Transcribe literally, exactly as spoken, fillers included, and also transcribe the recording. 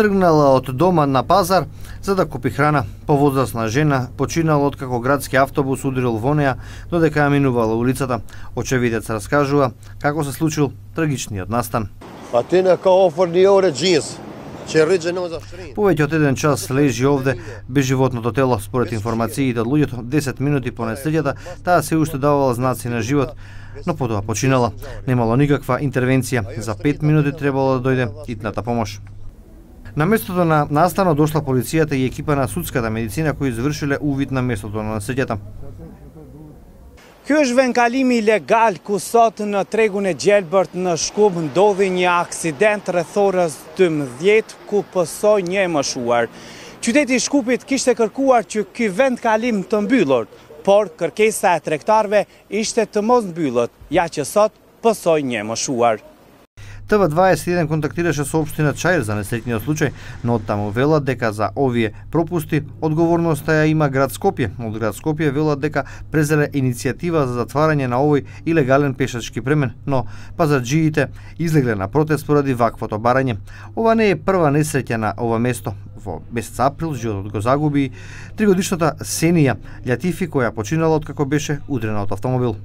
Тргнала од дома на пазар за да купи храна. Повозрасна жена починала откако градски автобус удрил во неа додека ја минувала улицата. Очевидец раскажува како се случил трагичниот настан. Повеќе од еден час лежи овде без животното тело. Според информациите од луѓето, десет минути по несреќата, таа се уште давала знаци на живот, но потоа починала. Немало никаква интервенција. За пет минути требало да дојде итната помош. На местото на настанот дошла полицијата и екипа на судската медицина кои извршиле увид на местото на несреќата. Ky është vendkalimi ilegal ku sot në tregun e Gjelbërt në Shkup ndodhi një aksident rreth orës dymbëdhjetë ku pësoi një e moshuar. Qyteti i Shkupit kishte kërkuar që ky vendkalim të mbyllur, por kërkesa e tregtarëve ishte të mos mbyllët, ja që sot pësoi një e moshuar. Т В дваесет и еден контактираше со општина Чаир за несреќниот случај, но оттаму велат дека за овие пропусти одговорноста ја има град Скопје. Од град Скопје велат дека презеле иницијатива за затварање на овој илегален пешачки премен, но пазарџиите излегле на протест поради ваквото барање. Ова не е прва несреќа на ова место. Во месец април животот го загуби тригодишната Сенија Љатифи која починала откако беше удрена од автомобил.